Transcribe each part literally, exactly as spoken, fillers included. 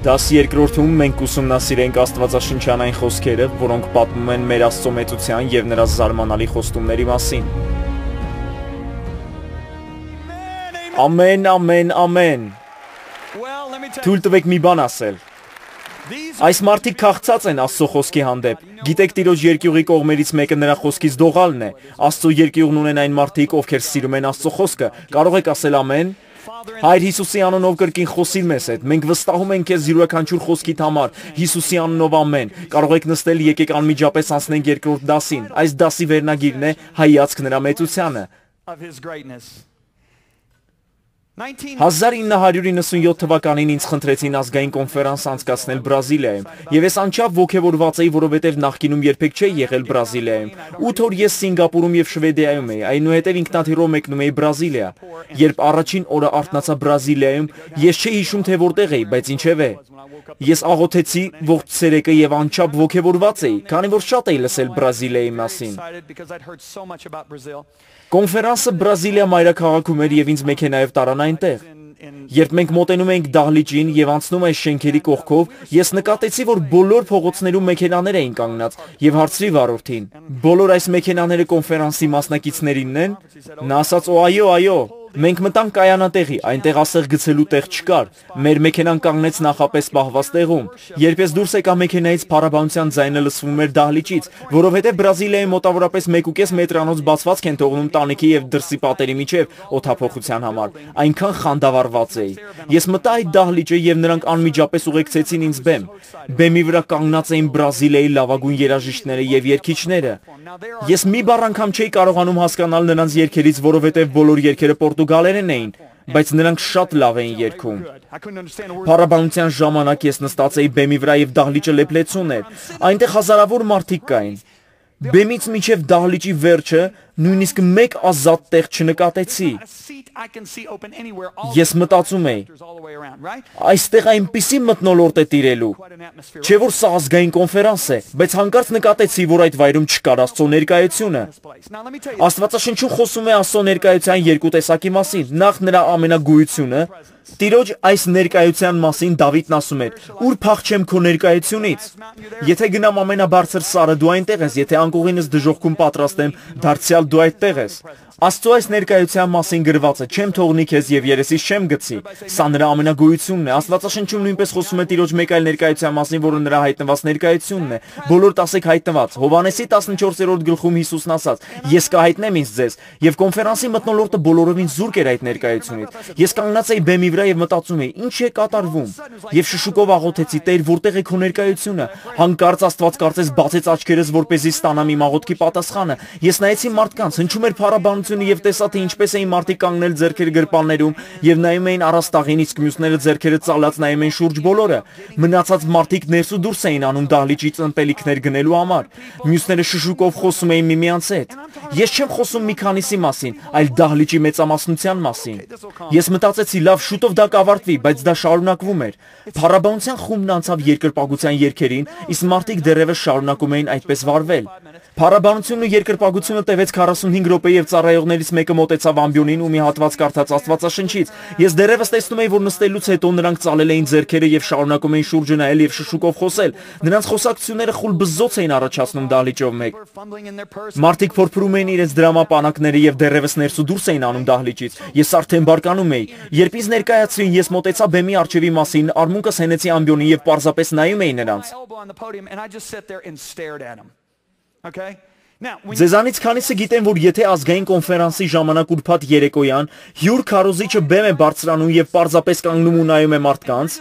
Դասի երկրորդում մենք ուսումնասիրենք աստվածաշնչյան խոսքերը, որոնք պատմում են մեր Աստծո մեծության և նրա զարմանալի խոստումների մասին։ Ամեն, ամեն, ամեն։ Թույլ տվեք մի բան ասել։ Այս մարդիկ քաղցած են Աստծո խոսքի հանդեպ։ Գիտեք, Տիրոջ երկյուղի կողմերից մեկը նրա խոսքից դողալն է։ Աստծո երկյուղն ունեն այն մարդիկ, ովքեր սիրում են Աստծո խոսքը։ Կարող եք ասել ամեն։ Հայր Հիսուսի անունով կրկին խոսիր մեզ հետ։ Մենք վստահում ենք քեզ յուրաքանչյուր խոսքիդ համար։ Հիսուսի անունով ամեն։ Կարող եք նստել, եկեք անմիջապես անցնենք երկրորդ դասին։ Այս դասի վերնագիրն է հայացք նրա մեծությանը։ հազար ինը հարյուր իննսունյոթ թվականին ինձ խնդրեցին ազգային կոնֆերանս անցկացնել Բրազիլիայում, եւ ես անչափ ոգևորված էի, որովհետեւ նախկինում երբեք չէի եղել Բրազիլիայում։ ութ օր ես Սինգապուրում եւ Շվեդիայում էի, այնուհետեւ ինքնաթիռով մեկնում էի Բրազիլիա։ Երբ առաջին օրը արթնացա Բրազիլիայում, ես չէի հիշում, թե որտեղ էի, բայց ինչևէ։ Ես աղոթեցի ողջ ցերեկը եւ անչափ ոգևորված էի, քանի որ շատ էի լսել Բրազիլիայի մասին։ Կոնֆերանսը Բրազիլիա մայրաքաղաքում էր եւ ինձ մեքենայով տարան այնտեղ։ Երբ մենք մոտենում էինք դահլիճին եւ անցնում այս շենքերի կողքով, ես նկատեցի, որ բոլոր փողոցներում մեքենաներ էին կանգնած եւ հարցրի վարորդին. «Բոլոր այս մեքենաները կոնֆերանսի մասնակիցներինն են»։ Նա ասաց. «Օ, այո, այո»։ Մենք մտանք կայանատեղի, այնտեղ ասեղ գցելու տեղ չկար։ Մեր մեքենան կանգնեց նախապես պահված տեղում։ Երբ ես դուրս եկա մեքենայից, փառաբանության ձայնը լսվում էր դահլիճից, որովհետև Բրազիլիայի մոտավորապես մեկ ու կես մետրանոց բացվածք են թողնում տանիքի եւ դրսի պատերի միջև օդափոխության համար։ Այնքան խանդավառված էի։ Ես մտա այդ դահլիճը եւ նրանք անմիջապես ուղեկցեցին ինձ բեմ։ Բեմի վրա կանգնած էին Բրազիլիայի լավագույն երաժիշտները եւ երգիչները։ Ես մի բառ անգամ չէի կարողանում հասկանալ նրանց երգերից, որովհետև բոլոր երգերը պորտուգալերեն էին, բայց նրանք շատ լավ էին երգում։ Փառաբանության ժամանակ ես նստած էի բեմի վրա եւ դահլիճը լեփլեցուն էր։ Այնտեղ հազարավոր մարդիկ կային։ Բեմից մինչև դահլիճի վերջը նույնիսկ մեկ ազատ տեղ չնկատեցի։ Ես մտածում էի. այստեղ այնպիսի մթնոլորտ է տիրելու, չէ որ սա ազգային կոնֆերանս է, բայց հանկարծ նկատեցի, որ այդ վայրում չկար Աստծո ներկայությունը։ Աստվածաշնչում խոսում է Աստծո ներկայության երկու տեսակի մասին։ Նախ նրա ամենագույությունը։ Տիրոջ այս ներկայության մասին Դավիթն ասում էր. «Ուր փախչեմ քո ներկայությունից»։ Եթե գնամ ամենաբարձր սարը, դու այնտեղ ես, եթե անկողինս դժոխքում պատրաստեմ, դարձյալ դու այդտեղ ես։ Աստծո այս ներկայության մասին գրված է. «Չեմ թողնի քեզ եւ երեսից չեմ գցի»։ Սա նրա ամենագույությունն է։ Աստվածաշնչում նույնպես խոսում է Տիրոջ մեկ այլ ներկայության մասին, որը նրա հայտնված ներկայությունն է։ Բոլոր տասեք հայտնված։ Հովհաննեսի տասնչորսերորդ գլխում Հիսուսն ասաց. «Ես կհայտնեմ ինձ ձեզ»։ Եվ կոնֆերանսի մթնոլորտը բոլորովին զուրկ էր այդ ներկայությունից։ Ես կանգնած էի բեմի վրա եւ մտածում էի. ինչ է կատարվում։ Եվ շշուկով աղոթեցի. «Տեր, որտեղ է քո ներկայությունը»։ Հանկարծ Աստված կարծես բացեց աչքերս, որպեսզի ստանամ իմ աղոթքի պատասխանը։ Ես նայեցի մարդկանց, հնչում էր փառաբանություն եւ տեսա, թե ինչպես էին մարդիկ կանգնել ձեռքերը գրպաններում եւ նայում էին առաստաղին, իսկ մյուսները ձեռքերը ծալած նայում էին շուրջ բոլորը։ Մնացած մարդիկ ներս ու դուրս էին անում դահլիճից ըմպելիքներ գնելու համար։ Մյուսները շշուկով խոսում էին միմյանց հետ։ Ես չեմ խոսում մի քանիսի մասին, այլ դահլիճի մեծամասնության մասին։ Ես մտածեցի, լավ, շուտով դա կավարտվի, բայց դա շարունակվում էր։ Փառաբանության խումբն անցավ երկրպագության երգերին, իսկ մարդիկ դեռևս շարունակում էին այդպես վարվել։ Փառաբանությունն ու երկրպագությունը տևեց քառասունհինգ րոպե եւ ծառայողներից մեկը մոտեցավ ամբիոնին ու մի հատված կարդաց Աստվածաշնչից։ Ես դեռևս տեսնում էի, որ նստելուց հետո նրանք ծալել էին ձեռքերը եւ շարունակում էին շուրջը նայել եւ շշուկով խոսել։ Նրանց խոսակցությունները խուլ բզզոց էին առաջացնում դահլիճով մեկ։ Մարդիկ փորփրում էին իրենց դրամապանակները եւ դեռևս ներս ու դուրս էին անում դահլիճից։ Ես արդեն բարկանում էի։ Երբ ինձ ներկայացրին, ես մոտեցա բեմի առջևի մասին, արմունկս հենեցի ամբիոնին եւ պարզապես նայում էի նրանց։ Ձեզանից քանիսը գիտեն, որ եթե ազգային կոնֆերանսի ժամանակ ուրբաթ երեկոյան հյուր քարոզիչը բեմ է բարձրանում եւ պարզապես կանգնում ու նայում է մարդկանց,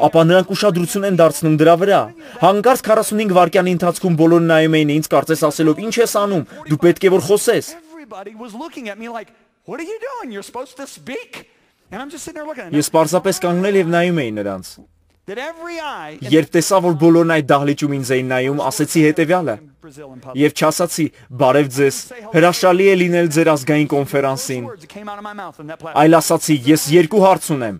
ապա նրանք ուշադրություն են դարձնում դրա վրա։ Հանկարծ քառասունհինգ վայրկյանի ընթացքում բոլորը նայում էին ինձ, կարծես ասելով. «Ինչ ես անում, դու պետք է որ խոսես»։ Ես պարզապես կանգնել եւ նայում էի նրանց։ Երբ տեսա, որ բոլորն այդ դահլիճում ինձ էին նայում, ասեցի հետևյալը. եւ չասացի բարև ձեզ, հրաշալի է լինել ձեր ազգային կոնֆերանսին, այլ ասացի ես երկու հարց ունեմ։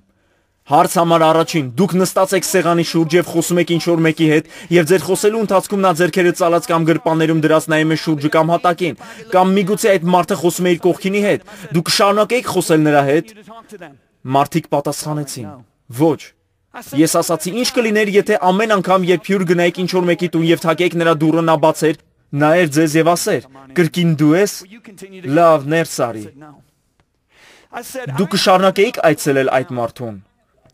Հարց համար առաջին, դուք նստած եք սեղանի շուրջ եւ խոսում եք ինչ-որ մեկի հետ եւ ձեր խոսելու ընթացքում նա ձեռքերը ծալած կամ գրպաններում դրած նայում է շուրջը կամ հատակին, կամ միգուցե այդ մարդը խոսում է իր կողքինի հետ, դուք կշարունակեիք խոսել նրա հետ։ Մարդիկ պատասխանեցին. ոչ։ Ես ասացի, ինչ կլիներ, եթե ամեն անգամ, երբ հյուր գնայիք ինչ-որ մեկի տուն և թակեիք նրա դուռը, նա բացեր, նայեր ձեզ և ասեր, կրկին դու ես, լավ, ներս արի։ Դու կշարունակեիք այցելել այդ մարդուն։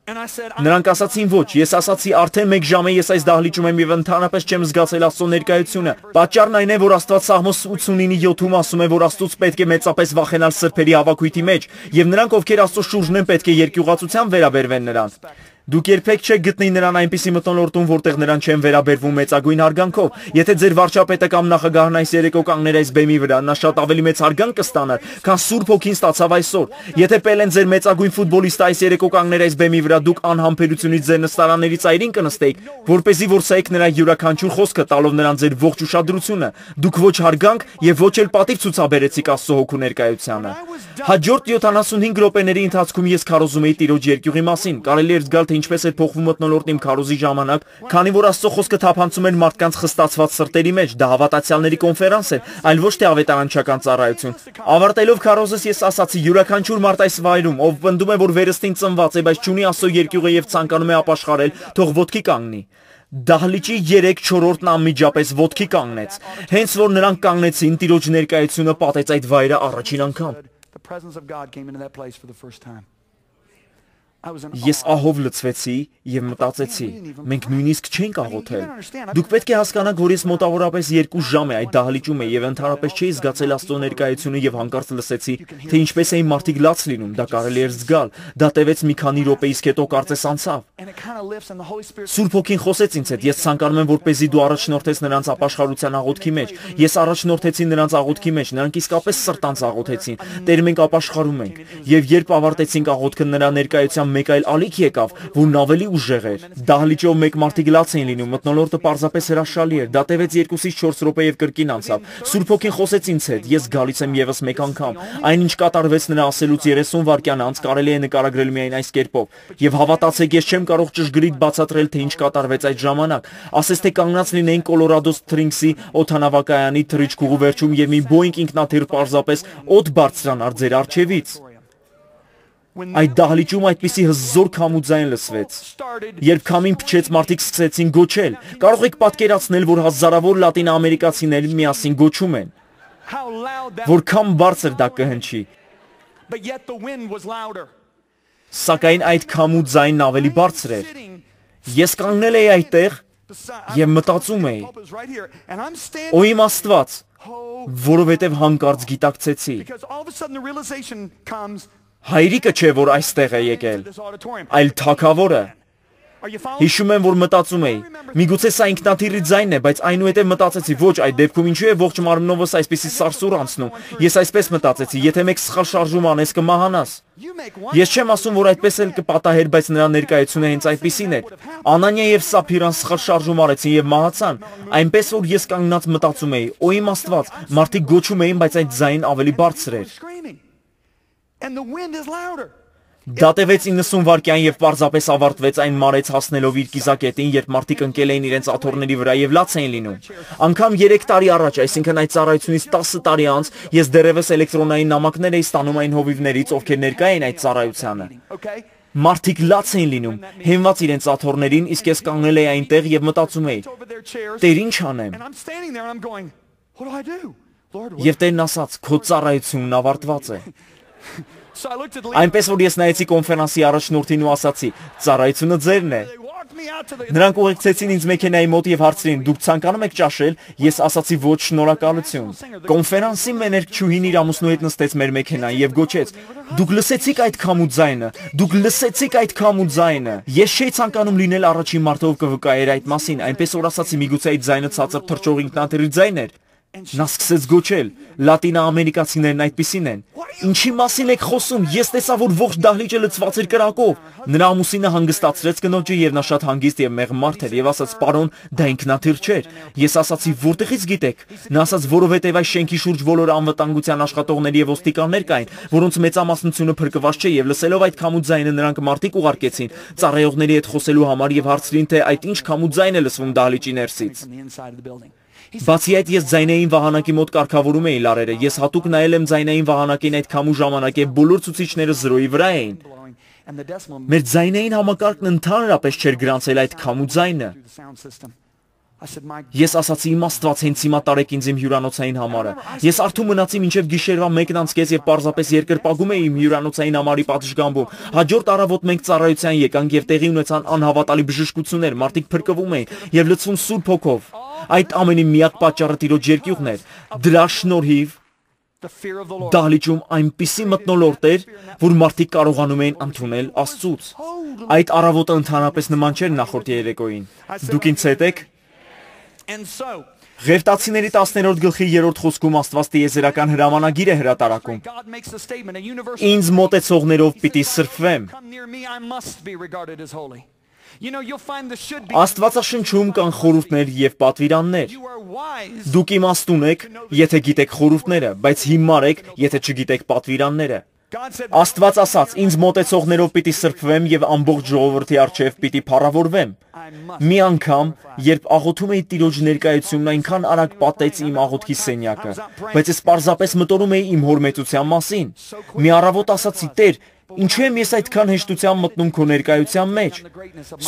Նրանք ասացին ոչ, ես ասացի արդեն մեկ ժամ է ես այս դահլիճում եմ և ընդհանրապես չեմ զգացել Աստծո ներկայությունը։ Պատճառն այն է, որ Աստված Սաղմոս ութսունինի յոթում ասում է, որ Աստծուց պետք է մեծապես վախենալ սրբերի հավաքույթի մեջ, և նրանք, ովքեր Աստծո շուրջն են, պետք է երկյուղացությամբ վերաբերվեն նրան։ Դուք երբեք չեք գտնի նրան այնպիսի մթնոլորտում, որտեղ նրան չեն վերաբերվում մեծագույն հարգանքով։ Եթե ձեր վարչապետը կամ նախագահն այս երեկո կանգներ այս բեմի վրա, նա շատ ավելի մեծ հարգանք կստանար, քան Սուրբ Հոգին ստացավ այսօր։ Եթե Պելեն ձեր մեծագույն ֆուտբոլիստը այս երեկո կանգներ այս բեմի վրա, դուք անհամբերությունից ձեր նստարանների ծայրին կնստեիք, որպեսզի որսայիք նրա յուրաքանչյուր խոսքը, տալով նրան ձեր ողջ ուշադրությունը։ Դուք ոչ հարգանք եւ ոչ էլ պատիվ ցուցաբերեցիք Աստծո Հոգու ներկայությանը։ Հաջորդ յոթանասունհինգ րոպեների ընթացքում ես քարոզում էի Տիրոջ երկյուղի մասին։ Կարելի էր զգալ, թե ինչպես էր փոխվում մթնոլորտն իմ քարոզի ժամանակ, քանի որ Աստծո խոսքը թափանցում էր մարդկանց խստացված սրտերի մեջ, դա հավատացյալների կոնֆերանս էր, այլ ոչ թե ավետարանչական ծառայություն։ Ավարտելով քարոզս ես ասացի, յուրաքանչյուր մարդ այս վայրում, ով պնդում է, որ վերստին ծնված է, բայց չունի Աստծո երկյուղը եւ ցանկանում է ապաշխարել, թող ոտքի կանգնի։ Դահլիճի երեք-չորրորդն անմիջապես ոտքի կանգնեց, հենց որ նրանք կանգնեցին, Տիրոջ ներկայությունը պատեց այդ վայրը առաջին անգամ։ Ես ահով լցվեցի և մտածեցի, մենք նույնիսկ չենք աղոթել։ Դուք պետք է հասկանաք, որ ես մոտավորապես երկու ժամ է այդ դահլիճում էի և ընդհանրապես չէի զգացել Աստծո ներկայությունը և հանկարծ լսեցի, թե ինչպես էին մարդիկ լաց լինում, դա կարելի էր զգալ, դա տևեց մի քանի րոպե, իսկ հետո կարծես անցավ։ Սուրբ Հոգին խոսեց ինձ հետ, ես ցանկանում եմ, որպեսզի դու առաջնորդես նրանց ապաշխարության աղոթքի մեջ։ Ես առաջնորդեցի նրանց աղոթքի մեջ, նրանք իսկապես սրտանց աղոթեցին, Տեր, մենք ապաշխարում ենք։ Եվ երբ ավարտեցինք աղոթքը, նրա ներկայությամբ մեկ այլ ալիք եկավ, որն ավելի ուժեղ էր։ Դահլիճով մեկ մարդիկ լաց էին լինում, մթնոլորտը պարզապես հրաշալի էր։ Դա տևեց երկուսից չորս րոպե և կրկին անցավ։ Սուրբ Հոգին խոսեց ինձ հետ, ես գալիս եմ ևս մեկ անգամ։ Այնինչ կատարվեց նրա ասելուց երեսուն վայրկյան անց, կարելի է նկարագրել միայն այս կերպով։ Եվ հավատացեք, ես չեմ կարող ճշգրիտ բացատրել, թե ինչ կատարվեց այդ ժամանակ։ Ասես թե կանգնած լինեին Կոլորադո Սփրինգսի օդանավակայանի թռիչքուղու վերջում և մի Boeing ինքնաթիռ պարզապես օդ բարձրանար ձեր առջևից։ Այդ դահլիճում այդպիսի հզոր քամու ձայն լսվեց։ Երբ քամին փչեց, մարդիկ սկսեցին գոչել։ Կարող եք պատկերացնել, որ հազարավոր լատինաամերիկացիներ միասին գոչում են։ Որքան բարձր դա կհնչի։ Սակայն այդ քամու ձայնն ավելի բարձր էր։ Ես կանգնել էի այդտեղ և մտածում էի. «Օ իմ Աստված», որովհետև հանկարծ գիտակցեցի։ Հայրիկը չէ, որ այստեղ է եկել, այլ թագավորը։ Հիշում եմ, որ մտածում էի, միգուցե սա ինքնաթիռի ձայնն է, բայց այնուհետև մտածեցի, ոչ, այդ դեպքում ինչու է ողջ մարմնովս այսպիսի սարսուռ անցնում։ Ես այսպես մտածեցի, եթե մեկ սխալ շարժում անես, կմահանաս։ Ես չեմ ասում, որ այդպես էլ կպատահեր, բայց նրա ներկայությունը հենց այդպիսին էր։ Անանիա և Սափիրան սխալ շարժում արեցին և մահացան, այնպես որ ես կանգնած մտածում էի, օ իմ Աստված, մարդիկ գոչում էին, բայց այդ ձայնն ավելի բարձր էր։ Դա տևեց իննսուն վայրկյան և պարզապես ավարտվեց այն մարեց հասնելով իր կիզակետին, երբ մարդիկ ընկել էին իրենց աթոռների վրա և լաց էին լինում։ Անգամ երեք տարի առաջ, այսինքն այդ ծառայությունից տասը տարի անց, ես դեռևս էլեկտրոնային նամակներ էի ստանում այն հովիվներից, ովքեր ներկա էին այդ ծառայությանը։ Մարդիկ լաց էին լինում, հենված իրենց աթոռներին, իսկ ես կանգնել էի այնտեղ և մտածում էի. Տեր, ինչ անեմ։ Եվ Տերն ասաց, քո ծառայությունն ավարտված է։ Այնպես որ ես նայեցի կոնֆերանսի առաջնորդին ու ասացի, ծառայությունը ձերն է։ Նրանք ուղեկցեցին ինձ մեքենայի մոտ և հարցրին, դուք ցանկանում եք ճաշել, ես ասացի ոչ, շնորհակալություն։ Կոնֆերանսի մեներկչուհին իր ամուսնու հետ նստեց մեր մեքենային և գոչեց. դուք լսեցիք այդ քամու ձայնը, դուք լսեցիք այդ քամու ձայնը։ Ես չէի ցանկանում լինել առաջին մարդը, ով կվկայեր այդ մասին, այնպես որ ասացի, միգուցե այդ ձայնը ցածր թռչող ինքնաթիռի ձայն էր։ Նա սկսեց գոչել, լատինաամերիկացիներն այդպիսին են։ Ինչի մասին եք խոսում, ես տեսա, որ ողջ դահլիճը լցված էր կրակով։ Նրա ամուսինը հանգստացրեց կնոջը և նա շատ հանգիստ և մեղմ մարդ էր և ասաց, պարոն, դա ինքնաթիռ չէր։ Ես ասացի, որտեղից գիտեք։ Նա ասաց, որովհետև այս շենքի շուրջ բոլոր անվտանգության աշխատողներ և ոստիկաններ կային, որոնց մեծամասնությունը փրկված չէ և լսելով այդ քամու ձայնը նրանք մարդիկ ուղարկեցին ծառայողների հետ խոսելու համար և հարցրին, թե այդ ինչ քամու ձայն է լսվում դահլիճի ներսից։ Բացի այդ, ես ձայնային վահանակի մոտ կարգավորում էի լարերը, ես հատուկ նայել եմ ձայնային վահանակին այդ քամու ժամանակ և բոլոր ցուցիչները զրոյի վրա էին։ Մեր ձայնային համակարգն ընդհանրապես չէր գրանցել այդ քամու ձայնը։ Ես ասացի իմ Աստված հենց հիմա տարեք ինձ իմ հյուրանոցային համարը։ Ես արթուն մնացի մինչև գիշերվա մեկն անց կես եւ պարզապես երկրպագում էի իմ հյուրանոցային համարի պատշգամբում։ Հաջորդ առավոտ մենք ծառայության եկանք եւ տեղի ունեցան անհավատալի բժշկություններ, մարդիկ փրկվում էին եւ լցվում Սուրբ Հոգով։ Այդ ամենի միակ պատճառը Տիրոջ երկյուղն էր։ Դրա շնորհիվ դահլիճում այնպիսի մթնոլորտ էր, որ մարդիկ կարողանում էին ընդունել Աստծուց։ Այդ առավոտը ընդհանրապես նման չէր նախորդ երեկոյին։ Դուք ինձ հետ եք։ Ղևտացիների տասներորդ գլխի երրորդ խոսքում Աստված տիեզերական հրամանագիր է հրատարակում։ Ինձ մոտեցողներով պիտի սրբվեմ։ Աստվածաշնչում կան խորհուրդներ եւ պատվիրաններ։ Դուք իմաստուն եք, եթե գիտեք խորհուրդները, բայց հիմար եք, եթե չգիտեք պատվիրանները։ Աստված ասաց. ինձ մոտեցողներով պիտի սրբվեմ եւ ամբողջ ժողովրդի առջեւ պիտի փառավորվեմ։ Մի անգամ, երբ աղոթում էի Տիրոջ ներկայությունն, այնքան արագ պատեց իմ աղոթքի սենյակը, բայց ես պարզապես մտորում էի իմ հոր մեծության մասին։ Մի առավոտ ասացի. Տեր, ինչու եմ ես այդքան հեշտությամբ մտնում քո ներկայության մեջ։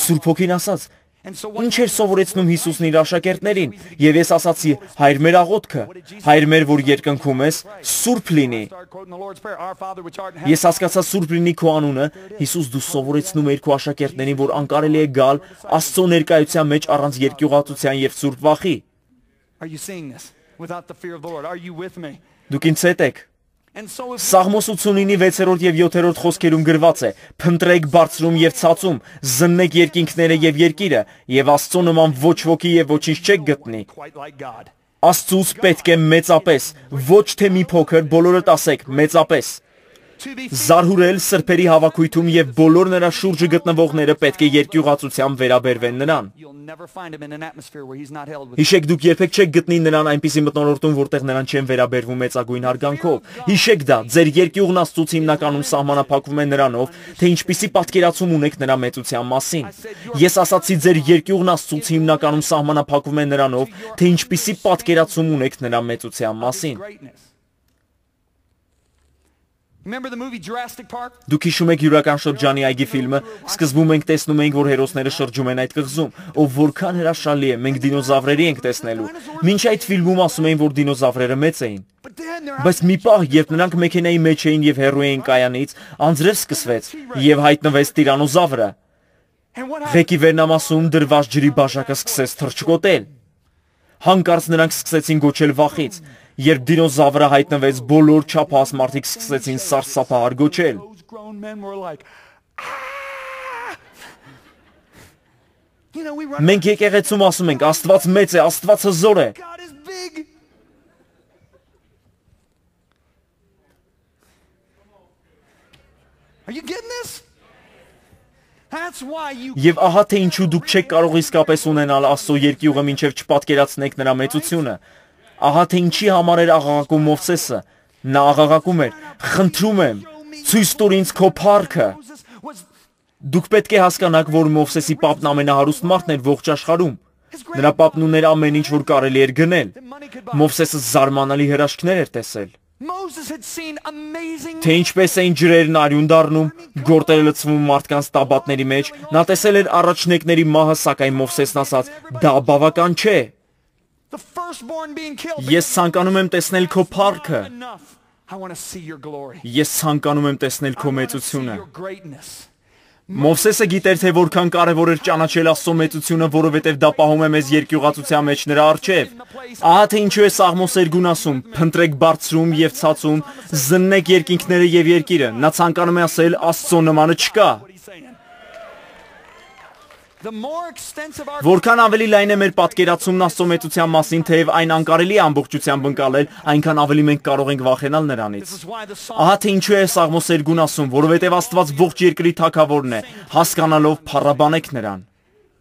Սուրբ Հոգին ասաց. ինչ էր սովորեցնում Հիսուսն իր աշակերտներին, եւ ես ասացի. Հայր մեր աղոթքը, հայր մեր, որ երկնքում ես, սուրբ լինի։ Ես հասկացա սուրբ լինի քո անունը, Հիսուս դու սովորեցնում էիր քո աշակերտներին, որ անկարելի է գալ Աստծո ներկայության մեջ առանց երկյուղածության եւ սուրբ վախի։ Դուք ինձ հետ եք։ Սաղմոս ութսունինի վեցերորդ եւ յոթերորդ խոսքերում գրված է. Փնտրեք բարձրում եւ ցածում, զննեք երկինքները եւ երկիրը, եւ Աստծո նման ոչ ոքի եւ ոչինչ չեք գտնի։ Աստծուց պետք է մեծապես, ոչ թե մի փոքր, բոլորդ ասեք մեծապես։ Զարհուրել սրբերի հավաքույթում եւ բոլոր նրա շուրջը գտնվողները պետք է երկյուղածությամբ վերաբերվեն նրան։ Հիշեք, դուք երբեք չեք գտնի նրան այնպիսի մթնոլորտում, որտեղ նրան չեն վերաբերվում մեծագույն հարգանքով։ Հիշեք դա, ձեր երկյուղն Աստծուց հիմնականում սահմանափակվում է նրանով, թե ինչպիսի պատկերացում ունեք նրա մեծության մասին։ Ես ասացի, ձեր երկյուղն Աստծուց հիմնականում սահմանափակվում է նրանով, թե ինչպիսի պատկերացում ունեք նրա մեծության մասին։ Դուք հիշում եք Յուրական շրջանի այգի ֆիլմը, սկզբում մենք տեսնում ենք, որ հերոսները շրջում են այդ կղզում, ով որքան հրաշալի է, մենք դինոզավրերի ենք տեսնելու։ Մինչ այդ ֆիլմում ասում էին, որ դինոզավրերը մեծ էին։ Բայց մի պահ, երբ նրանք մեքենայի մեջ էին եւ հեռու էին կայանից, անձրև սկսվեց եւ հայտնվեց տիրանոզավրը։ Ղեկի վերնամասում դրված ջրի բաժակը սկսեց թռչկոտել։ Հանկարծ նրանք սկսեցին գոչել վախից։ Երբ դինոզավրը հայտնվեց, բոլոր չափահաս մարդիկ սկսեցին սարսափահար գոչել։ Մենք եկեղեցում ասում ենք. Աստված մեծ է, Աստված հզոր է։ Եվ ահա թե ինչու դուք չեք կարող իսկապես ունենալ Աստծո երկյուղը, մինչև չպատկերացնեք նրա մեծությունը։ Ահա թե ինչի համար էր աղաղակում Մովսեսը։ Նա աղաղակում էր. խնդրում եմ, ցույց տուր ինձ քո փառքը։ Դուք պետք է հասկանաք, որ Մովսեսի պապն ամենահարուստ մարդն էր ողջ աշխարհում։ Նրա պապն ուներ ամեն ինչ, որ կարելի էր գնել։ Մովսեսը զարմանալի հրաշքներ էր տեսել։ Թե ինչպես էին ջրերն արյուն դառնում, գորտերը լցվում մարդկանց տաբատների մեջ, նա տեսել էր առաջնեկների մահը, սակայն Մովսեսն ասաց. դա բավական չէ։ Ես ցանկանում եմ տեսնել քո փառքը։ Ես ցանկանում եմ տեսնել քո մեծությունը։ Մովսեսը գիտեր, թե որքան կարևոր էր ճանաչել Աստծո մեծությունը, որովհետև դա պահում է մեզ երկյուղածության մեջ նրա առջև։ Ահա թե ինչու է Սաղմոս երկուն ասում. փնտրեք բարձրում եւ ցածում, զննեք երկինքները եւ երկիրը։ Նա ցանկանում է ասել, Աստծո նմանը չկա։ Որքան ավելի լայն է մեր պատկերացումն Աստծո մեծության մասին, թեև այն անկարելի է ամբողջությամբ ընկալել, այնքան ավելի մենք կարող ենք վախենալ նրանից։ Ահա թե ինչու է Սաղմոս երկուն ասում, որովհետև Աստված ողջ երկրի թագավորն է, հասկանալով փառաբանեք նրան։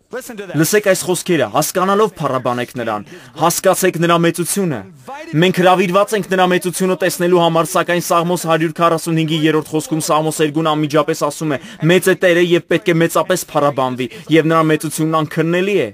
Լսեք այս խոսքերը, հասկանալով փառաբանեք նրան, հասկացեք նրա մեծությունը։ Մենք հրավիրված ենք նրա մեծությունը տեսնելու համար, սակայն Սաղմոս հարյուր քառասունհինգի երրորդ խոսքում Սաղմոս երկուն անմիջապես ասում է. մեծ է Տերը եւ պետք է մեծապես փառաբանվի, եւ նրա մեծությունն անքննելի է։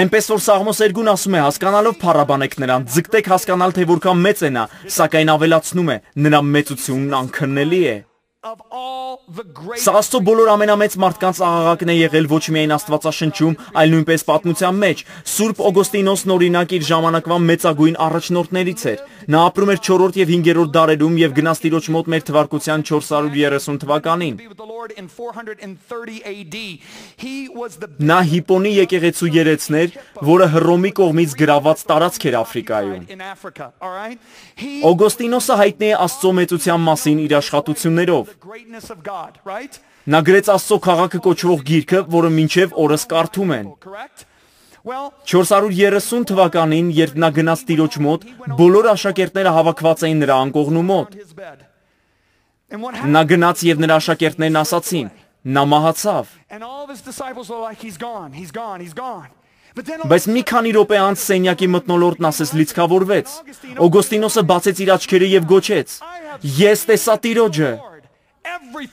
Այնպես որ Սաղմոս երկուն ասում է. հասկանալով փառաբանեք նրան, ձգտեք հասկանալ, թե որքան մեծ է նա, սակայն ավելացնում է. նրա մեծությունն անքննելի է։ Սա Աստծո բոլոր ամենամեծ մարդկանց աղաղակն է եղել ոչ միայն Աստվածաշնչում, այլ նույնպես պատմության մեջ։ Սուրբ Օգոստինոսն օրինակ իր ժամանակվա մեծագույն առաջնորդներից էր։ Նա ապրում էր չորրորդ եւ հինգերորդ դարերում եւ գնաց Տիրոջ մոտ մեր թվարկության չորս հարյուր երեսուն թվականին։ Նա Հիպոնի եկեղեցու երեցներ, որը Հռոմի կողմից գրաված տարածք էր Աֆրիկայում։ Օգոստինոսը հայտնի է Աստծո մեծության մասին իր աշխատություններով։ Նա գրեց Աստծո քաղաքը կոչվող գիրքը, որը մինչև օրս կարդում են։ չորս հարյուր երեսուն թվականին, երբ նա գնաց Տիրոջ մոտ, բոլոր աշակերտները հավաքված էին նրա անկողնու մոտ։ Նա գնաց եւ նրա աշակերտներն ասացին. նա մահացավ։ Բայց մի քանի րոպե անց սենյակի մթնոլորտն ասես լիցքավորվեց։ Օգոստինոսը բացեց իր աչքերը եւ գոչեց. Ես տեսա Տիրոջը։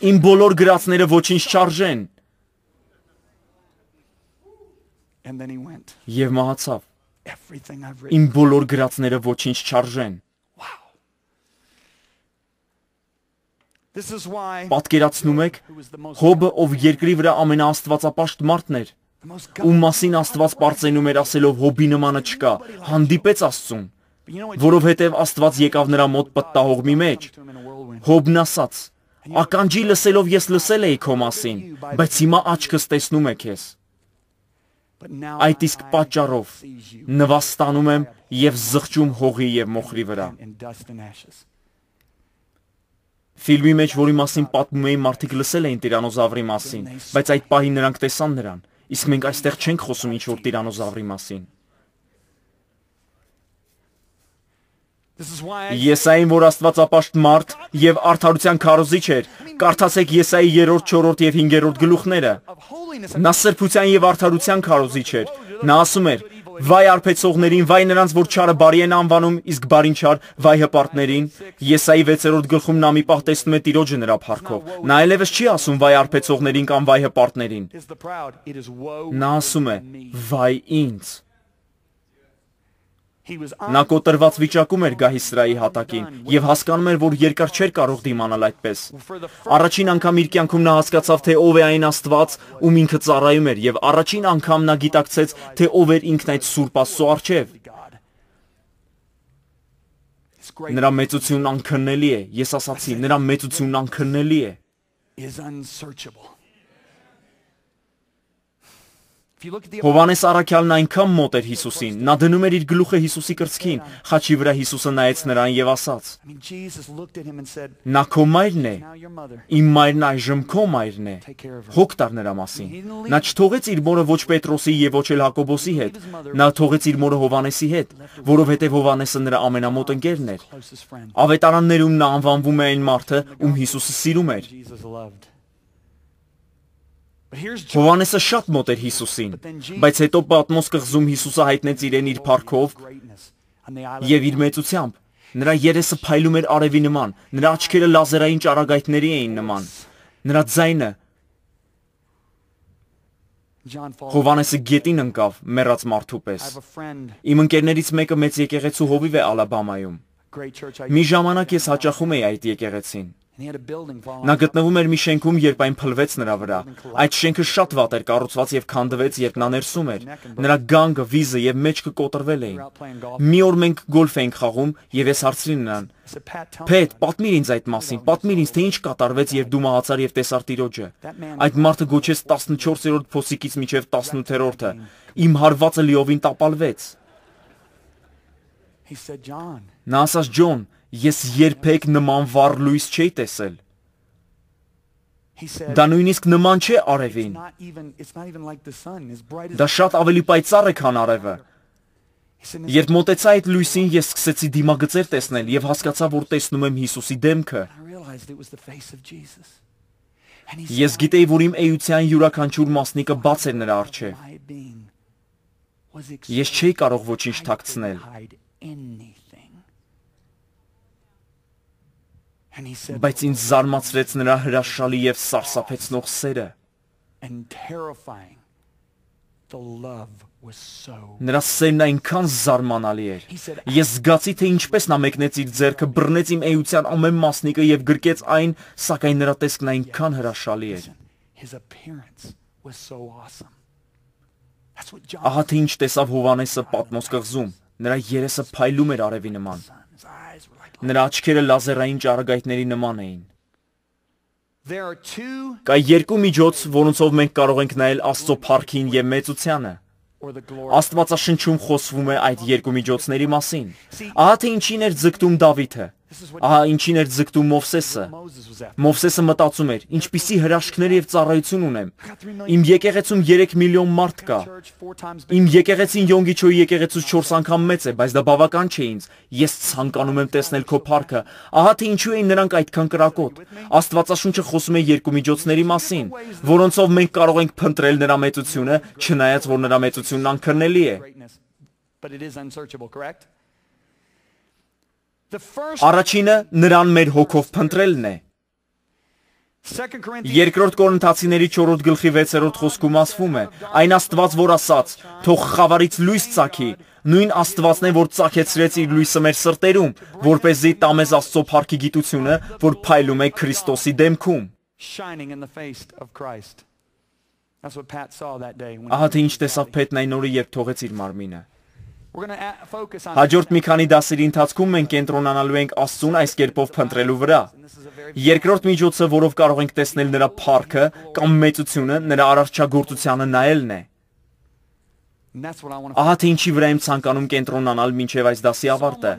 Իմ բոլոր գրածները ոչինչ չարժեն։ Եվ մահացավ։ Իմ բոլոր գրածները ոչինչ չարժեն։ Պատկերացնում եք, Հոբը, ով երկրի վրա ամենաաստվածապաշտ մարդն էր, ում մասին Աստված պարծենում էր ասելով Հոբի նմանը չկա, հանդիպեց Աստծուն, որովհետև Աստված եկավ նրա մոտ պտտահողմի մեջ։ Հոբն ասաց. ականջի լսելով ես լսել էի քո մասին, բայց հիմա աչքս տեսնում է քեզ։ Այդ իսկ պատճառով նվաստանում եմ եւ զղջում հողի եւ մոխրի վրա։ Ֆիլմի մեջ, որի մասին պատմում էին, մարդիկ լսել էին տիրանոզավրի մասին, բայց այդ պահին նրանք տեսան նրան, իսկ մենք այստեղ չենք խոսում ինչ-որ տիրանոզավրի մասին։ Եսային, որ աստվածապաշտ մարդ եւ արդարության քարոզիչ էր, կարդացեք Եսայի երրորդ, չորրորդ եւ հինգերորդ գլուխները։ Նա սրբության եւ արդարության քարոզիչ էր։ Նա ասում էր. Վայ արբեցողներին, վայ նրանց, որ չարը բարի են անվանում, իսկ բարին չար, վայ հպարտներին։ Եսայի վեցերորդ գլխում նա մի պահ տեսնում է Տիրոջը նրա փառքով։ Նա այլևս չի ասում վայ արբեցողներին կամ վայ հպարտներին։ Նա ասում է. վայ ինձ։ Նա կոտրված վիճակում էր Գահիսրայի հատակին եւ հասկանում էր, որ երկար չէր կարող դիմանալ այդպես։ Առաջին անգամ իր կյանքում նա հասկացավ, թե ով է այն Աստված, ում ինքը ծառայում էր, եւ առաջին անգամ նա գիտակցեց, թե ով էր ինքն այդ Սուրբ Աստծո առջև։ Նրա մեծությունն անքննելի է։ Ես ասացի, նրա մեծությունն անքննելի է։ Հովանես առաքյալն այնքան մոտ էր Հիսուսին, նա դնում էր իր գլուխը Հիսուսի կրծքին, խաչի վրա Հիսուսը նայեց նրան եւ ասաց. Նա քո մայրն է, իմ մայրն այժմ քո մայրն է, հոգ տար նրա մասին։ Նա չթողեց իր մորը ոչ Պետրոսի եւ ոչ էլ Հակոբոսի հետ, նա թողեց իր մորը Հովանեսի հետ, որովհետեւ Հովանեսը նրա ամենամոտ ընկերն էր։ Ավետարաններում նա անվանվում է այն մարդը, ում Հիսուսը սիրում էր։ Հովանեսը շատ մոտ էր Հիսուսին, բայց հետո Պատմոս կղզում Հիսուսը հայտնեց իրեն իր փառքով եւ իր մեծությամբ։ Նրա երեսը փայլում էր արևի նման, նրա աչքերը լազերային ճառագայթների էին նման, նրա ձայնը Հովանեսը գետին ընկավ մեռած մարդու պես։ Իմ ընկերներից մեկը մեծ եկեղեցու հովիվ է Ալաբամայում։ Մի ժամանակ ես հաճախում էի այդ եկեղեցին։ Նա գտնվում էր մի շենքում, երբ այն փլվեց նրա վրա։ Այդ շենքը շատ վատ էր կառուցված եւ քանդվեց, երբ նա ներսում էր։ Նրա գանգը, վիզը եւ մեջքը կոտրվել էին։ Մի օր մենք գոլֆ էինք խաղում եւ ես հարցրի նրան. Փեթ, պատմիր ինձ այդ մասին, պատմիր ինձ, թե ինչ կատարվեց, երբ դու մահացար եւ տեսար Տիրոջը։ Այդ մարդը գոչեց տասնչորսերորդ փոսիկից մինչեւ տասնութերորդը։ Իմ հարվածը լիովին տապալվեց։ Նա ասաց. Ջոն, ես երբեք նման վառ լույս չէի տեսել։ Դա նույնիսկ նման չէ արևին։ Դա շատ ավելի պայծառ է, քան արևը։ Երբ մոտեցա այդ լույսին, ես սկսեցի դիմագծեր տեսնել եւ հասկացա, որ տեսնում եմ Հիսուսի դեմքը։ Ես գիտեի, որ իմ էության յուրաքանչյուր մասնիկը բաց էր նրա առջև։ Ես չէի կարող ոչինչ թաքցնել։ Բայց ինձ զարմացրեց նրա հրաշալի եւ սարսափեցնող սերը։ Նրա սերն այնքան զարմանալի էր։ Ես զգացի, թե ինչպես նա մեկնեց իր ձեռքը, բռնեց իմ էության ամեն մասնիկը եւ գրկեց այն, սակայն նրա տեսքն այնքան հրաշալի էր։ Ահա թե ինչ տեսավ Հովհաննեսը Պատմոս կղզում։ Նրա երեսը փայլում էր արևի նման։ Նրա աչքերը լազերային ճառագայթների նման էին։ Կա երկու միջոց, որոնցով մենք կարող ենք նայել Աստծո փառքին եւ մեծությանը։ Աստվածաշնչում խոսվում է այդ երկու միջոցների մասին։ Ահա թե ինչին էր ձգտում Դավիթը։ Ահա ինչին էր ձգտում Մովսեսը։ Մովսեսը մտածում էր. ինչպիսի հրաշքներ եւ ծառայություն ունեմ։ Իմ եկեղեցում երեք միլիոն մարդ կա։ Իմ եկեղեցին Յոնգիչոյի եկեղեցուց չորս անգամ մեծ է, բայց դա բավական չէ ինձ։ Ես ցանկանում եմ տեսնել քո փառքը։ Ահա թե ինչու էին նրանք այդքան կրակոտ։ Աստվածաշունչը խոսում է երկու միջոցների մասին, որոնցով մենք կարող ենք փնտրել նրա մեծությունը, չնայած որ նրա մեծությունն անքրնելի է։ Առաջինը նրան մեր հոգով փնտրելն է։ Երկրորդ Կորինթացիների չորրորդ գլխի վեցերորդ խոսքում ասվում է. այն Աստված, որ ասաց. թող խավարից լույս ծագի, նույն Աստվածն է, որ ծագեցրեց իր լույսը մեր սրտերում, որպեսզի տա մեզ Աստծո փառքի գիտությունը, որ փայլում է Քրիստոսի դեմքում։ Ահա թե ինչ տեսավ Փեթն այն օրը, երբ թողեց իր մարմինը։ Հաջորդ մի քանի դասերի ընթացքում մենք կենտրոնանալու ենք Աստծուն այս կերպով փնտրելու վրա։ Երկրորդ միջոցը, որով կարող ենք տեսնել նրա փառքը կամ մեծությունը, նրա արարչագործությանը նայելն է։ Ահա թե ինչի վրա եմ ցանկանում կենտրոնանալ մինչև այս դասի ավարտը։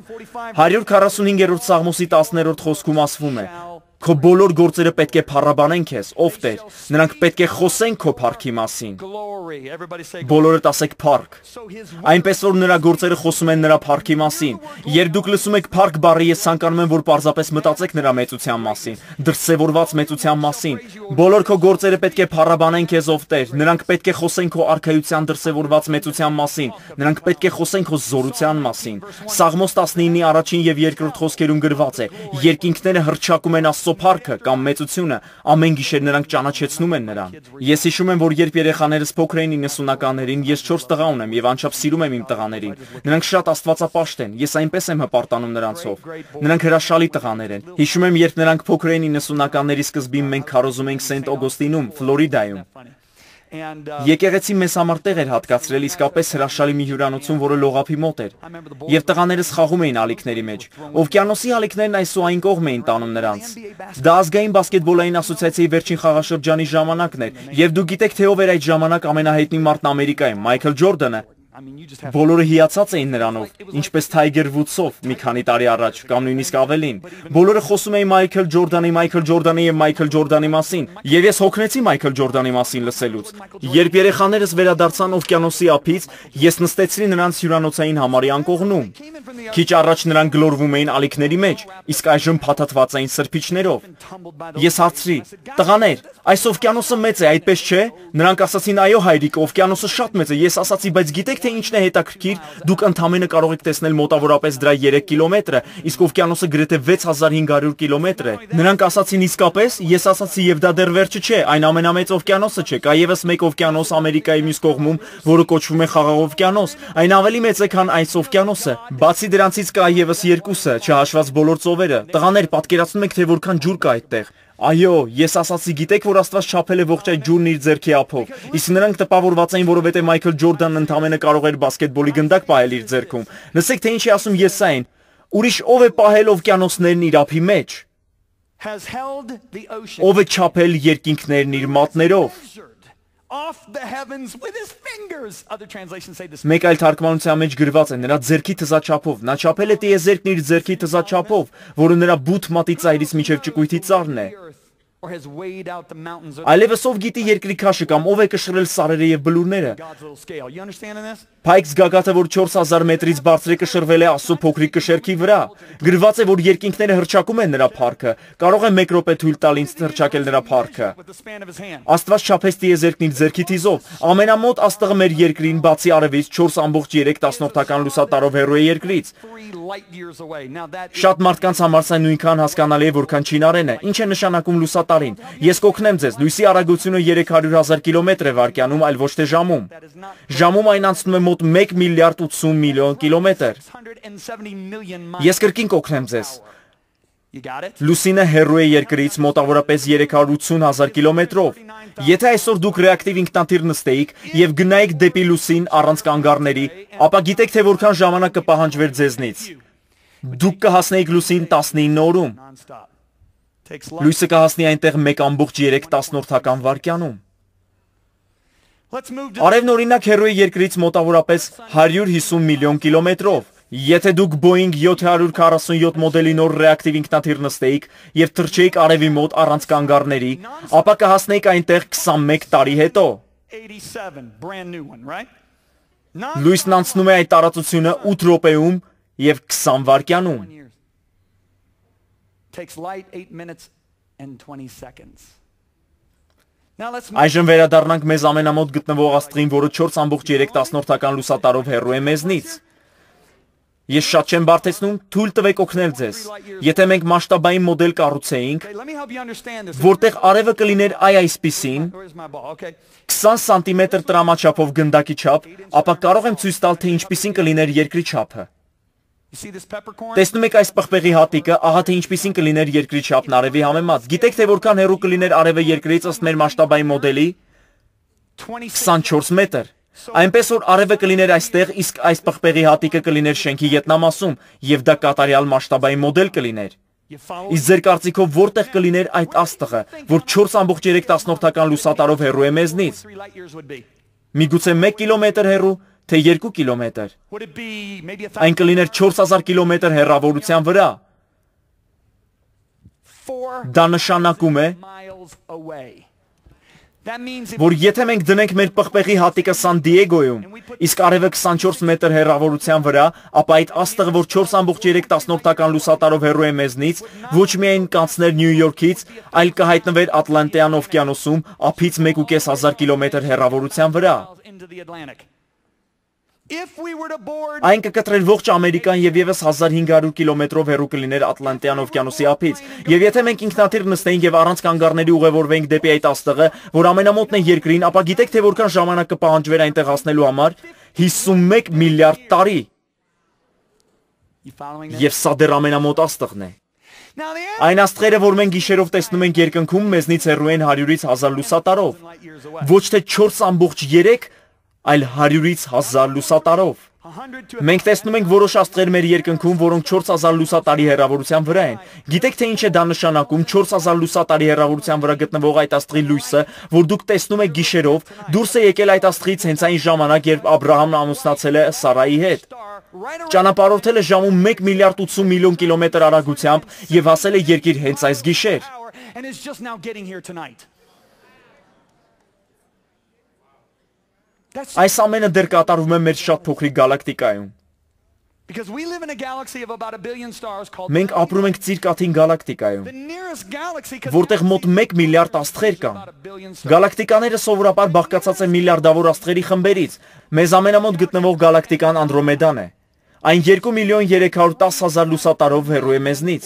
հարյուր քառասունհինգերորդ Սաղմոսի տասներորդ խոսքում ասվում է. Քո բոլոր գործերը պետք է փառաբանեն քեզ, ով Տեր, նրանք պետք է խոսեն քո փառքի մասին։ Բոլորդ ասեք փառք։ Այնպես որ նրա գործերը խոսում են նրա փառքի մասին։ Երբ դուք լսում եք փառք բառը, ես ցանկանում եմ, որ պարզապես մտածեք նրա մեծության մասին, դրսևորված մեծության մասին։ Բոլոր քո գործերը պետք է փառաբանեն քեզ, ով Տեր, նրանք պետք է խոսեն քո արքայության դրսևորված մեծության մասին, նրանք պետք է խոսեն քո զորության մասին։ Սաղմոս տասնինի առաջին եւ երկրորդ խոսքերում գրված է. երկինքները հռչակում են Աստծո փառքը կամ մեծությունը, ամեն գիշեր նրանք ճանաչեցնում են նրան։ Ես հիշում եմ, որ երբ երեխաներս փոքր էին իննսունականներին, ես չորս տղա ունեմ եւ անչափ սիրում եմ իմ տղաներին։ Նրանք շատ աստվածապաշտ են, ես այնպես եմ հպարտանում նրանցով։ Նրանք հրաշալի տղաներ են։ Հիշում եմ, երբ նրանք փոքր էին իննսունականների սկզբին, մենք քարոզում էինք Սենտ Օգոստինում, Ֆլորիդայում։ Եկեղեցի մեզ համար տեղ էր հատկացրել իսկապես հրաշալի մի հյուրանոցում, որը լողափի մոտ էր։ Եվ տղաներս խաղում էին ալիքների մեջ։ Օվկիանոսի ալիքներն այս ու այն կողմ էին տանում նրանց։ Դա ազգային բասկետբոլային ասոցիացիայի վերջին խաղաշրջանի ժամանակն էր, եւ դուք գիտեք, թե ով էր այդ ժամանակ ամենահայտնի մարդն Ամերիկայում, Մայքլ Ջորդանը։ Բոլորը հիացած էին նրանով, ինչպես Թայգեր Վուդսով մի քանի տարի առաջ, կամ նույնիսկ ավելին։ Բոլորը խոսում էին Մայքլ Ջորդանի, Մայքլ Ջորդանի եւ Մայքլ Ջորդանի մասին։ Եվ ես հոգնեցի Մայքլ Ջորդանի մասին լսելուց։ Երբ երեխաներս վերադարձան օվկիանոսի ափից, ես նստեցրի նրանց հյուրանոցային համարի անկողնում։ Քիչ առաջ նրանք գլորվում էին ալիքների մեջ, իսկ այժմ փաթաթված էին սրբիչներով։ Ես հարցրի. տղաներ, այս օվկիանոսը մեծ է, այդպես չէ։ Նրանք ասացին. այո հայրիկ, օվկիանոսը շատ մեծ է։ Ես ասացի, բայց գիտեք թե ինչն է հետաքրքիր, դուք ընդամենը կարող եք տեսնել մոտավորապես դրա երեք կիլոմետրը, իսկ օվկիանոսը գրեթե վեց հազար հինգ հարյուր կիլոմետր է։ Նրանք ասացին իսկապես, ես ասացի եւ դա դեռ վերջը չէ, այն ամենամեծ օվկիանոսը չէ, կա եւս մեկ օվկիանոս Ամերիկայի մյուս կողմում, որը կոչվում է Խաղաղ օվկիանոս, այն ավելի մեծ է, քան այս օվկիանոսը։ Բացի դրանցից կա եւս երկուսը, չհաշված բոլոր ծովերը։ Տղաներ, պատկերացնում եք, թե որքան ջուր կա այդտեղ։ Այո, ես ասացի, գիտեք, որ Աստված չափել է ողջ այդ ջուրն իր ձեռքի ափով, իսկ նրանք տպավորված էին, որովհետև Մայքլ Ջորդանն ընդամենը կարող էր բասկետբոլի գնդակ պահել իր ձեռքում։ Լսեք, թե ինչ է ասում Եսային. ուրիշ ով է պահել օվկիանոսներն իր ափի մեջ։ Ով է չափել երկինքներն իր մատներով։ Մեկ այլ թարգմանության մեջ գրված է նրա ձեռքի թզաչափով, նա չափել է տիեզերքն իր ձեռքի թզաչափով, որը նրա բութ մատի ծայրից մինչև ճկույթի ծառն է։ Այլևս ով գիտի երկրի քաշը կամ ով է կշռել սարերը եւ բլուրները։ Փայքս գագաթը, որ չորս հազար մետրից բարձր է, կշռվել է Աստծո փոքրիկ կշերքի վրա։ Գրված է, որ երկինքները հրճակում են նրա փառքը։ Կարող եմ մեկ րոպե թույլ տալ ինձ հրճակել նրա փառքը։ Աստված չափեց տիեզերքն իր ձեռքի թիզով։ Ամենամոտ աստղը մեր երկրին, բացի արևից, չորս ամբողջ երեք տասնորդական լուսատարով հեռու է երկրից։ Շատ մարդկանց համար սա նույնքան հասկանալի է, որքան չինարենը։ Ինչ է նշանակում լուսատարին։ Ես կօգնեմ ձեզ, լույսի արագությունը երեք հարյուր հազար կիլոմետր է վայրկյանում, այլ ոչ թե ժամում։ Ժամում այն անցնում է մոտ մեկ միլիարդ ութսուն միլիոն կիլոմետր։ Ես կրկին կօգնեմ ձեզ։ Լուսինը հեռու է երկրից մոտավորապես երեք հարյուր ութսուն հազար կիլոմետրով։ Եթե այսօր դուք ռեակտիվ ինքնաթիռ նստեիք եւ գնայիք դեպի լուսին առանց կանգառների, ապա գիտեք թե որքան ժամանակ կպահանջվեր ձեզնից։ Դուք կհասնեիք լուսին տասնինը օրում։ Լույսը կհասնի այնտեղ մեկ ամբողջ երեք տասնորդական վայրկյանում։ Արևն օրինակ հեռու է երկրից մոտավորապես հարյուր հիսուն միլիոն կիլոմետրով։ Եթե դուք Boeing յոթ հարյուր քառասունյոթ մոդելի նոր ռեակտիվ ինքնաթիռ նստեիք եւ թռչեիք արևի մոտ առանց կանգառների, ապա կհասնեիք այնտեղ քսանմեկ տարի հետո։ Լույսն անցնում է այդ տարածությունը ութ րոպեում եւ քսան վայրկյանում։ Այժմ վերադառնանք մեզ ամենամոտ գտնվող աստղին, որը չորս ամբողջ երեք տասնորդական լուսատարով հեռու է մեզնից։ Ես շատ չեմ բարդեցնում, թույլ տվեք օգնել ձեզ։ Եթե մենք մասշտաբային մոդել կառուցեինք, որտեղ արևը կլիներ այ այսպիսին, քսան սանտիմետր տրամաչափով գնդակի չափ, ապա կարող եմ ցույց տալ, թե ինչպիսին կլիներ երկրի չափը։ Տեսնում եք այս պղպեղի հատիկը, ահա թե ինչպիսին կլիներ երկրի չափն արևի համեմատ։ Գիտեք թե որքան հեռու կլիներ արևը երկրից ըստ մեր մասշտաբային մոդելի։ քսանչորս մետր։ Այնպես որ արևը կլիներ այստեղ, իսկ այս պղպեղի հատիկը կլիներ շենքի ետնամասում, եւ դա կատարյալ մասշտաբային մոդել կլիներ։ Իսկ ձեր կարծիքով որտեղ կլիներ այդ աստղը, որ չորս ամբողջ երեք տասնորդական լուսատարով հեռու է մեզնից։ Միգուցե մեկ կիլոմետր հեռու, թե երկու կիլոմետր։ Այն կլիներ չորս հազար կիլոմետր հեռավորության վրա։ Դա նշանակում է, որ եթե մենք դնենք մեր պղպեղի հատիկը Սան Դիեգոյում, իսկ արևը քսանչորս մետր հեռավորության վրա, ապա այդ աստղը, որ չորս ամբողջ երեք տասնորդական լուսատարով հեռու է մեզնից, ոչ միայն կանցներ Նյու Յորքից, այլ կհայտնվեր Ատլանտյան օվկիանոսում ափից մեկ ու կես հազար կիլոմետր հեռավորության վրա։ Այն կկտրեր ողջ Ամերիկան եւ եւս հազար հինգ հարյուր կիլոմետրով հեռու կլիներ Ատլանտյան օվկիանոսի ափից։ Եվ եթե մենք ինքնաթիռ նստեինք եւ առանց կանգառների ուղևորվեինք դեպի այդ աստղը, որ ամենամոտն է երկրին, ապա գիտեք թե որքան ժամանակ կպահանջվեր այնտեղ հասնելու համար։ հիսունմեկ միլիարդ տարի։ Եվ սա դեռ ամենամոտ աստղն է։ Այն աստղերը, որ մենք գիշերով տեսնում ենք երկնքում, մեզնից հեռու են հարյուրից հազար լուսատարով։ Ոչ թե չորս ամբողջ երեք, այլ հարյուրից հազար լուսատարով։ Մենք տեսնում ենք որոշ աստղեր մեր երկնքում, որոնք չորս հազար լուսատարի հեռավորության վրա են։ Գիտեք թե ինչ է դա նշանակում, չորս հազար լուսատարի հեռավորության վրա գտնվող այդ աստղի լույսը, որ դուք տեսնում եք գիշերով, դուրս է եկել այդ աստղից հենց այն ժամանակ, երբ Աբրահամն ամուսնացել է Սարայի հետ։ Ճանապարհորդել է ժամում մեկ միլիարդ ութսուն միլիոն կիլոմետր արագությամբ եւ հասել է երկիր հենց այս գիշեր։ Այս ամենը դեռ կատարվում է մեր շատ փոքրիկ գալակտիկայում։ Մենք ապրում ենք Ծիրկաթին գալակտիկայում, որտեղ մոտ մեկ միլիարդ աստղեր կան։ Գալակտիկաները սովորաբար բաղկացած են միլիարդավոր աստղերի խմբերից։ Մեզ ամենամոտ գտնվող գալակտիկան Անդրոմեդան է։ Այն երկու միլիոն երեք հարյուր տասը հազար լուսատարով հեռու է մեզնից։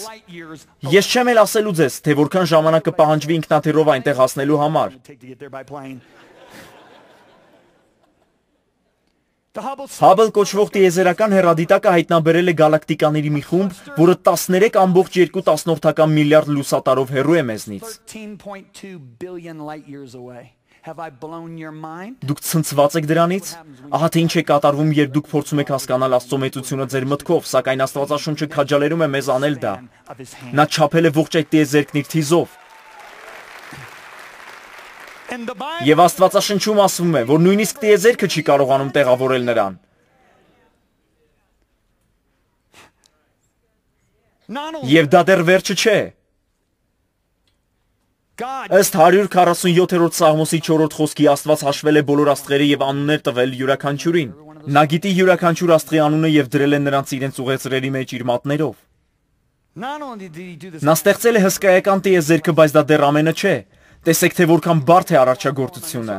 Ես չեմ էլ ասելու ձեզ, թե որքան ժամանակ կպահանջվի ինքնաթիռով այնտեղ հասնելու համար։ Հաբլ կոչվող տիեզերական հեռադիտակը հայտնաբերել է գալակտիկաների մի խումբ, որը տասներեք ամբողջ երկու տասնորդական միլիարդ լուսատարով հեռու է մեզնից։ Դուք ցնցված եք դրանից։ Ահա թե ինչ է կատարվում, երբ դուք փորձում եք հասկանալ Աստծո մեծությունը ձեր մտքով, սակայն Աստվածաշունչը քաջալերում է մեզ անել դա։ Նա չափել է ողջ այդ տիեզերքն իր թիզով։ Եվ Աստվածաշնչում ասվում է, որ նույնիսկ տիեզերքը չի կարողանում տեղավորել նրան։ Եվ դա դեռ վերջը չէ։ Ըստ հարյուր քառասունյոթերորդ Սաղմոսի չորրորդ խոսքի Աստված հաշվել է բոլոր աստղերը եւ անուններ տվել յուրաքանչյուրին։ Նա գիտի յուրաքանչյուր աստղի անունը եւ դրել է նրանց իրենց ուղեցրերի մեջ իր մատներով։ Նա ստեղծել է հսկայական տիեզերքը, բայց դա դեռ ամենը չէ։ Տեսեք, թե որքան բարդ է արարչագործությունը։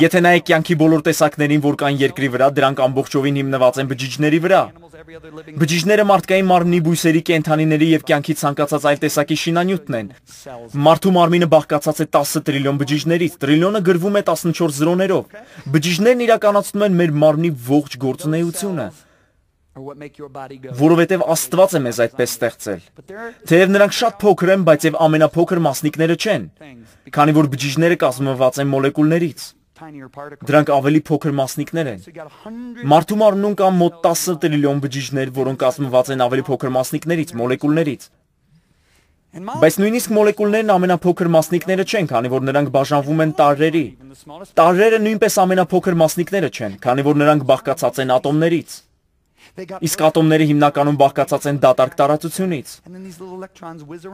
Եթե նայեք կյանքի բոլոր տեսակներին, որ կան երկրի վրա, դրանք ամբողջովին հիմնված են բջիջների վրա։ Բջիջները մարդկային մարմնի, բույսերի, կենդանիների եւ կյանքի ցանկացած այլ տեսակի շինանյութն են։ Մարդու մարմինը բաղկացած է տասը տրիլիոն բջիջներից, տրիլիոնը գրվում է տասնչորս զրոներով։ Բջիջներն իրականացնում են մեր մարմնի ողջ գործունեությունը, որովհետև Աստված է մեզ այդպես ստեղծել։ Թեև նրանք շատ փոքր են, բայց եւ ամենափոքր մասնիկները չեն, քանի որ բջիջները կազմված են մոլեկուլներից։ Դրանք ավելի փոքր մասնիկներ են։ Մարդու մարմնում կան մոտ տասը տրիլիոն բջիջներ, որոնք կազմված են ավելի փոքր մասնիկներից, մոլեկուլներից։ Բայց նույնիսկ մոլեկուլներն ամենափոքր մասնիկները չեն, քանի որ նրանք բաժանվում են տարրերի։ Տարրերը նույնպես ամենափոքր մասնիկները չեն, քանի որ նրանք բաղկացած են ատոմներից։ Իսկ ատոմները հիմնականում բաղկացած են դատարկ տարածությունից։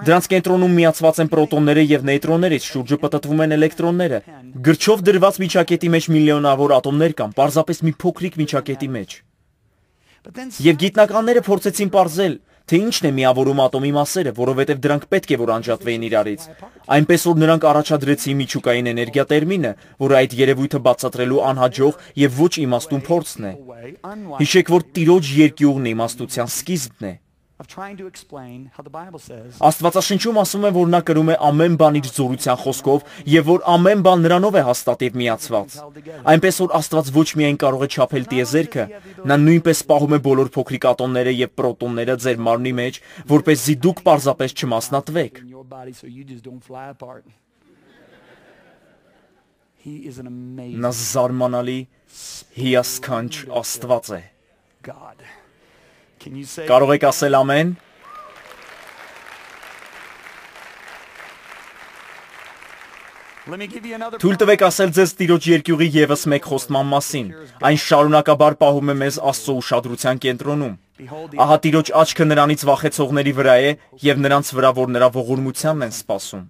Դրանց կենտրոնում միացված են պրոտոնները եւ նեյտրոններից, շուրջը պտտվում են էլեկտրոնները։ Գրչով դրված միջակետի մեջ միլիոնավոր ատոմներ կան, պարզապես մի փոքրիկ միջակետի մեջ։ Եվ գիտնականները փորձեցին պարզել, թե ինչն է միավորում ատոմի մասերը, որովհետև դրանք պետք է որ անջատվեին իրարից։ Այնպես որ նրանք առաջադրեցին միջուկային էներգիա տերմինը, որը այդ երևույթը բացատրելու անհաջող եւ ոչ իմաստուն փորձն է։ Հիշեք, որ Տիրոջ երկյուղն իմաստության սկիզբն է։ Աստվածաշնչում ասում է, որ նա կրում է ամեն բան իր զորության խոսքով եւ որ ամեն բան նրանով է հաստատ եւ միացված։ Այնպես որ Աստված ոչ միայն կարող է չափել տիեզերքը, նա նույնպես պահում է բոլոր փոքրիկ ատոմները եւ պրոտոնները ձեր մարմնի մեջ, որպեսզի դուք պարզապես չմասնատվեք։ Նա զարմանալի հիասքանչ Աստված է։ Կարող եք ասել ամեն։ Թույլ տվեք ասել ձեզ Տիրոջ երկյուղի ևս մեկ խոստման մասին։ Այն շարունակաբար պահում է մեզ Աստծո ուշադրության կենտրոնում։ Ահա Տիրոջ աչքը նրանից վախեցողների վրա է եւ նրանց վրա, որ նրա ողորմությանն են սպասում։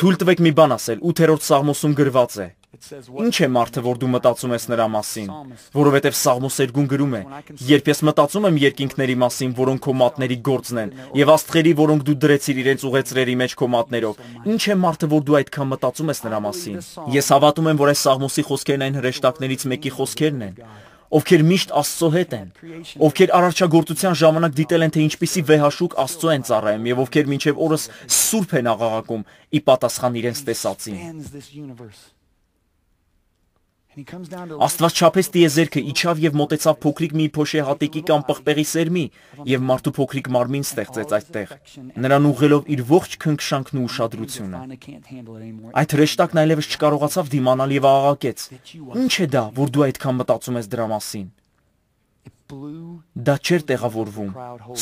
Թույլ տվեք մի բան ասել, ութերորդ Սաղմոսում գրված է. Ինչ է մարդը, որ դու մտածում ես նրա մասին, որովհետև Սաղմոսերգուն գրում է. Երբ ես մտածում եմ երկինքների մասին, որոնք քո մատների գործն են, եւ աստղերի, որոնք դու դրեցիր իրենց ուղեցրերի մեջ քո մատներով, ինչ է մարդը, որ դու այդքան մտածում ես նրա մասին։ Ես հավատում եմ, որ այս Սաղմոսի խոսքերն այն հրեշտակներից մեկի խոսքերն են, ովքեր միշտ Աստծո հետ են, ովքեր արարչագործության ժամանակ դիտել են, թե ինչպիսի վեհաշուկ Աստծո են ծառայում եւ ովքեր մինչեւ օրս սուրբ են աղաղակում ի պատասխան իրենց տեսածին։ Աստված չափեց տիեզերքը, իջավ եւ մոտեցավ փոքրիկ մի փոշե հատիկի կամ պղպեղի սերմի եւ մարդու փոքրիկ մարմին ստեղծեց այդտեղ, նրան ուղղելով իր ողջ քնքշանքն ու ուշադրությունը։ Այդ հրեշտակն այլևս չկարողացավ դիմանալ եւ աղաղակեց. Ինչ է դա, որ դու այդքան մտածում ես դրա մասին։ Դա չէր տեղավորվում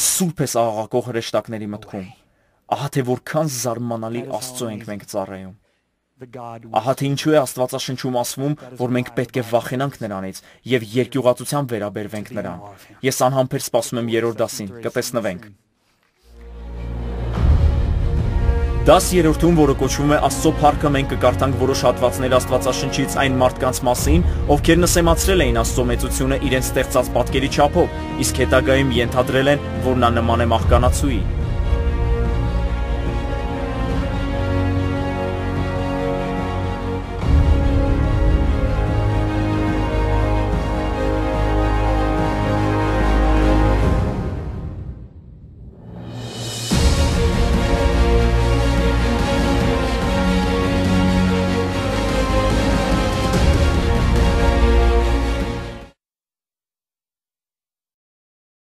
սուրբ ես աղաղակող հրեշտակների մտքում։ Ահա թե որքան զարմանալի Աստծո ենք մենք ծառայում։ Ահա թե ինչու է Աստվածաշնչում ասվում, որ մենք պետք է վախենանք նրանից եւ երկյուղածությամբ վերաբերվենք նրան։ Ես անհամբեր սպասում եմ երրորդ դասին, կտեսնվենք։ Դաս երրորդում, որը կոչվում է Աստծո փառքը, մենք կկարդանք որոշ հատվածներ Աստվածաշնչից այն մարդկանց մասին, ովքեր նսեմացրել էին Աստծո մեծությունը իրենց ստեղծած պատկերի չափով, իսկ հետագայում ենթադրել են, որ նա նման է մահկանացուի։